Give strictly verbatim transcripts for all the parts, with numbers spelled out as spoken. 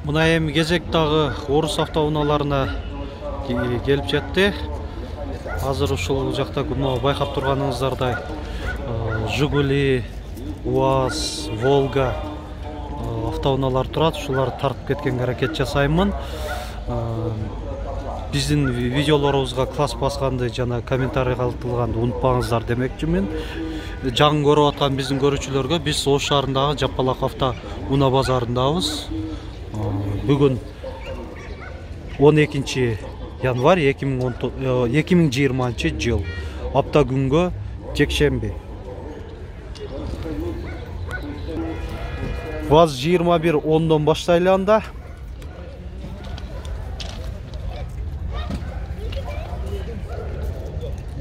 Мына эми кезек дагы орус автоунааларына келип жетти. Азыр ушул жакта мына байкап турганыңыздардай Жигули, УАЗ, Волга автоунаалар турат. Ушуларды тартып кеткенге аракет жасаймын. Биздин видеолорубузга класс басканды жана комментарий калтырганды унутпаңыздар демекчимин. Жаңы көрүп аткан биздин көрүүчүлөргө биз Ош шаарындагы Жапалак авто унаа базарындабыз. Бүгүн он экинчи январь эки миң жыйырманчы жыл. Апта күнгө жекшемби. ВАЗ жыйырма бир ондон баштайлы анда.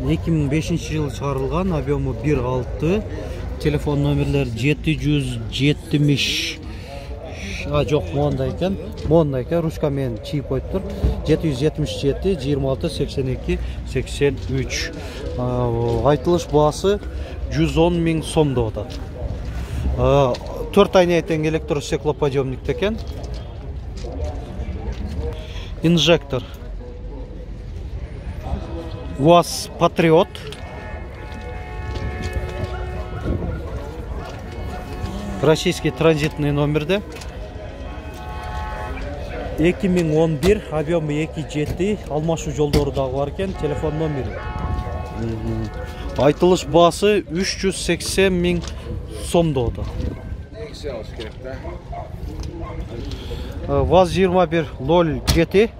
эки миң бешинчи жылы чыгарылган, объему бир алты, телефон номерлери жети жүз жетимиш. А жок, мондай экен. Мондай экен, ручка менен чийип коюптур. жети жүз жетимиш жети жыйырма алты сексен эки сексен үч. Айтылыш баасы жүз он миң сом деп атат. төрт айнея тең электростеклоподъемник экен. Инжектор. УАЗ Патриот. Российский транзитный номерде. эки миң он бир, объему эки жети, алмашуу жолдору дагы бар экен, телефон номери. Айтылыш баасы үч жүз сексен миң сом деп атат. ВАЗ жыйырма бир ноль жети.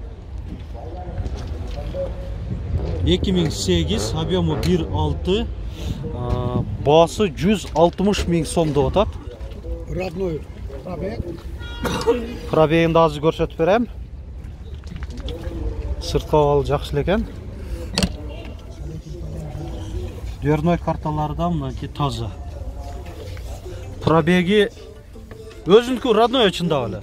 эки миң сегиз, объему бир алты, баасы жүз алтымыш миң сом деп атат. Родной пробег. Пробегин да азыр көрсөтүп берем. Сырткы абалы жакшы экен. Дверной карталары да мынакей таза. Пробеги өзүнүкү родной чындап эле.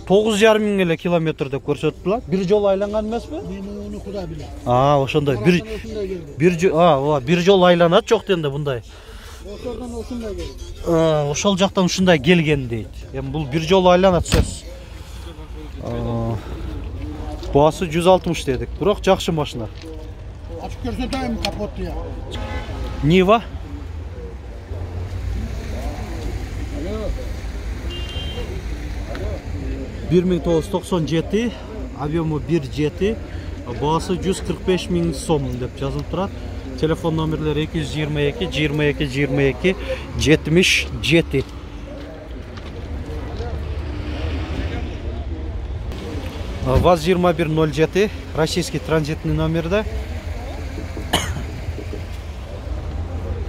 тогуз жарым миң эле километр деп көрсөттүлөр. Бир жолу айланган эмеспи? Мен муну Кудай билет. А, ошондой. Бир бир а, бир жолу айланат жок дегенде мындай. Ошолдон ушундай келди. А, ошол жактан ушундай келген дейт. Эми бул бир жолу айланат сөз. Баасы жүз алтымыш дедик. Бирок жакшы машина. Ачып көрсөтөйм капотты я. Нива. бир миң тогуз жүз токсон жети, объему бир жети, баасы жүз кырк беш миң сом деп жазылып турат. Телефон номерлери эки жүз жыйырма эки жыйырма эки жыйырма эки жетимиш жети. ВАЗ жыйырма бир ноль жети, российский транзитный номерде.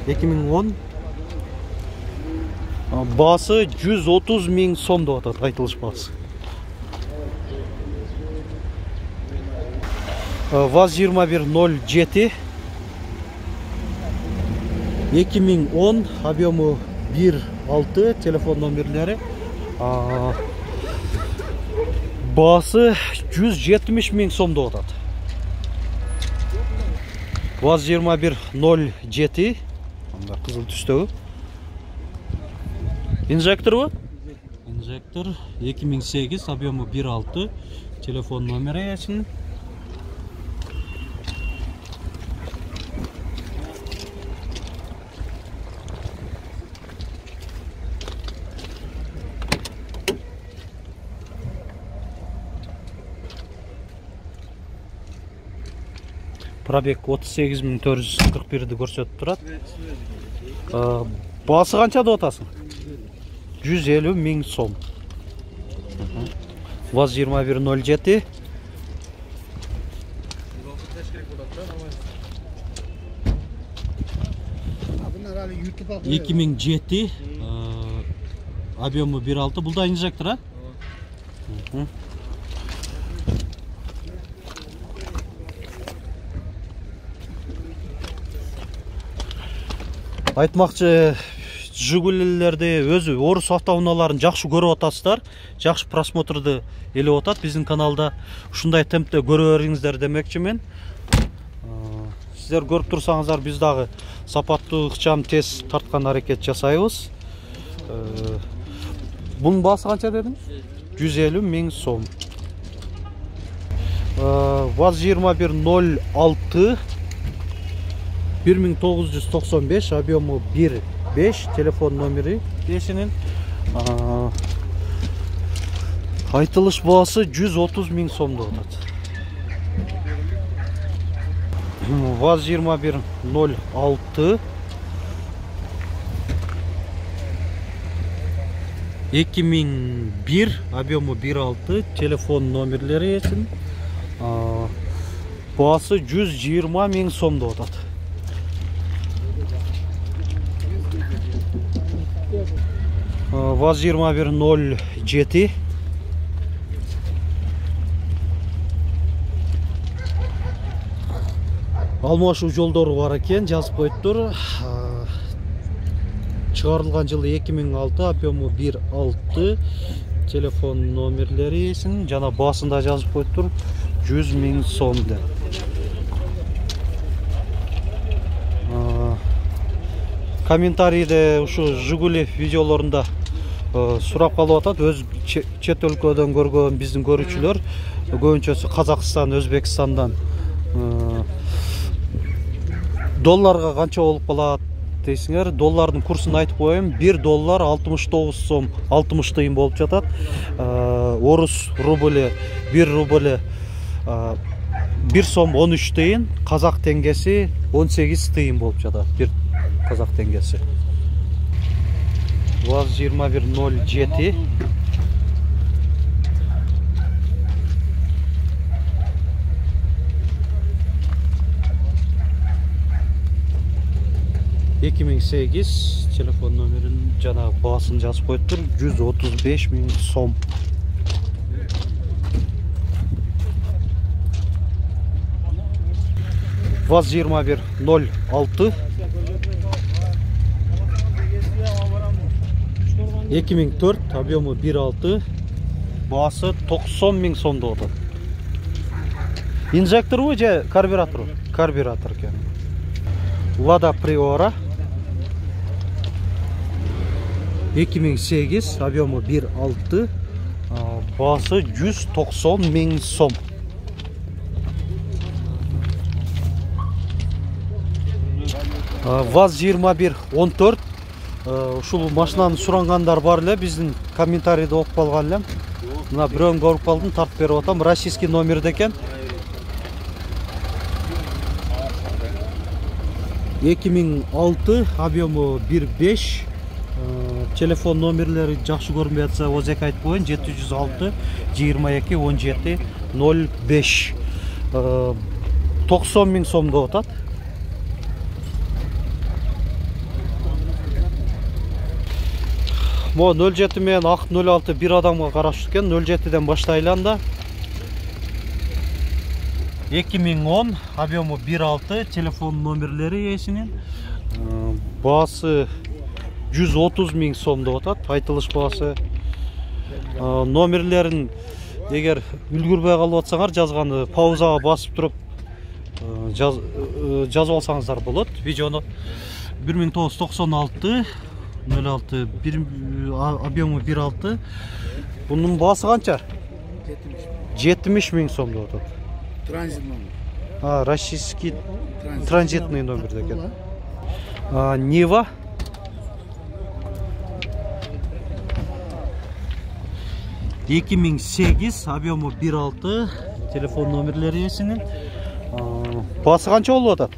эки миң он. Баасы жүз отуз миң сом деп атат, айтылыш баасы. ВАЗ жыйырма бир ноль жети. эки миң он, объему бир алты, телефон номерлери. Баасы жүз жетимиш миң сом деп атат. ВАЗ жыйырма бир ноль жети. Анда кызыл түстөгү. Инжекторбу? Инжектор эки миң сегиз, объему бир алты, телефон номери эсин. Пробег отуз сегиз миң төрт жүз кырк бирди көрсөтүп турат. Баасы канча деп атасың? жүз элүү миң сом. ВАЗ жыйырма бир ноль жети. эки миң жети, объему бир алты. Бул да инжектор, а? Айтмакчы, Жигулилерди өзү орус автоунааларын жакшы көрүп атасыздар, жакшы просмотрду элеп атат. Биздин каналда ушундай темпте көрө бериңиздер демекчимин. Сиздер көрүп турсаңыздар, биз дагы сапаттуу, ыкчам, тез тарткан аракет жасайбыз. Бунун баасы канча дедиңиз? жүз элүү миң сом. ВАЗ жыйырма бир ноль алты бир миң тогуз жүз токсон беш, объему бир беш, телефон номери эсинин. Айтылыш баасы жүз отуз миң сомдо атат. ВАЗ жыйырма бир ноль алты эки миң бир, объему бир алты, телефон номерлери эсин. Баасы жүз жыйырма миң сомдо атат. ВАЗ жыйырма бир ноль жети алмашуу жолдору бар экен, жазып коюптур. Чыгарылган жылы эки миң алты, объему бир алты, телефон номерлери эсин, жана баасында жазып коюптур жүз миң сом деп. Комментарийде ушу Жигули видеолорунда сурап калып атат. Өз чет өлкөдөн көргөн биздин көрүүчүлөр, көбүнчөсү Казакстан, Өзбекстандан долларга канча болуп калат дейсиңер. Доллардын курсун айтып коеюн. бир доллар алтымыш тогуз сом алтымыш тыйын болуп жатат. Орус рублі бир рубль бир сом он үч тыйын, казак теңгеси он сегиз тыйын болуп жатат. Бир казак теңгеси. ВАЗ жыйырма бир ноль жети эки миң сегиз, телефон номерин жана баасын жазып коюптур жүз отуз беш миң сом. ВАЗ жыйырма бир ноль алты эки миң төрт, объему бир алты, баасы токсон миң сомдо атат. Инжекторбу же карбюраторбу? Карбюратор экен. Лада Приора эки миң сегиз, объему бир алты, баасы жүз токсон миң сом. ВАЗ жыйырма бир он төрт, ушул машинаны сурангандар бар эле, биздин комментарийде окуп калган элем. Мына бирөөнү көрүп калдым, тартып берип атам. Российский номерде экен. эки миң алты, объему бир беш, телефон номерлери жакшы көрүнбөй атса, озек айтып коеюн, жети жүз алты жыйырма эки он жети ноль беш. токсон миң сомдо атат. Мо ноль жети менен ак ноль алты бир адамга караштуу экен. ноль жетиден баштайлы анда. эки миң он, объему бир алты, телефон номерлери эсинин. Баасы жүз отуз миң сомдо атат. Айтылыш баасы. Номерлерин эгер үлгүрбөй калып атсаңар, жазганды паузага басып туруп жазып алсаңыздар болот. Видеону бир миң тогуз жүз токсон алты ноль алты, объему бир алты. Бунун баасы канча? жетимиш миң сомдо атат. Транзит номер. А, российский транзитный номер деген. Нива эки миң сегиз, объему бир алты, телефон номерлери эсинин. Баасы канча болуп атат?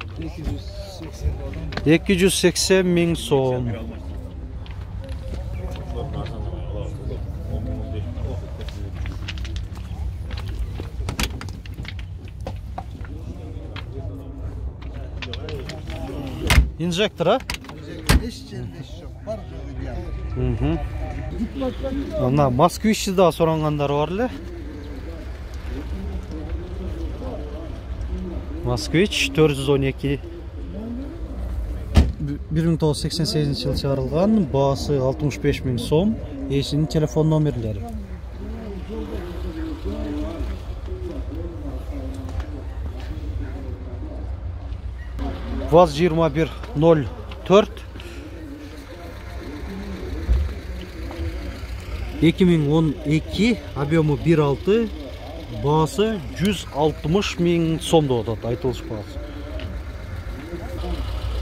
эки жүз сексен миң сом. Инжектор, а? Мына Москвичти да сурангандар бар эле. Москвич төрт жүз он эки. бир миң тогуз жүз сексен сегизинчи жылы чыгарылган, баасы алтымыш беш миң сом, эсинин телефон номерлери. ВАЗ жыйырма бир ноль төрт эки миң он эки, объему бир алты, баасы жүз алтымыш миң сом деп атат, айтылыш баасы.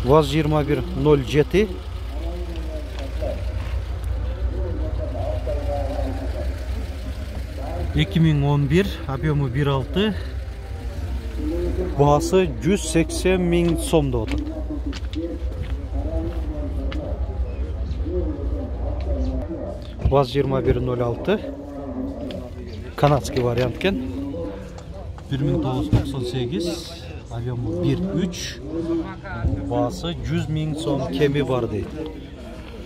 ВАЗ жыйырма бир ноль жети. эки миң он бир, объему бир алты, баасы жүз сексен миң сом деп атат. ВАЗ жыйырма бир ноль алты, канадский вариант кен. бир миң тогуз жүз токсон сегиз, объему бир үч, баасы жүз миң сом кеми бар дейт.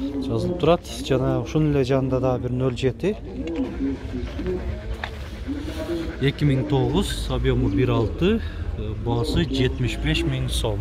Жазылып турат. Жана ушунун эле жанында да бир ноль жети. эки миң тогуз, объему бир алты, баасы жетимиш беш миң сом.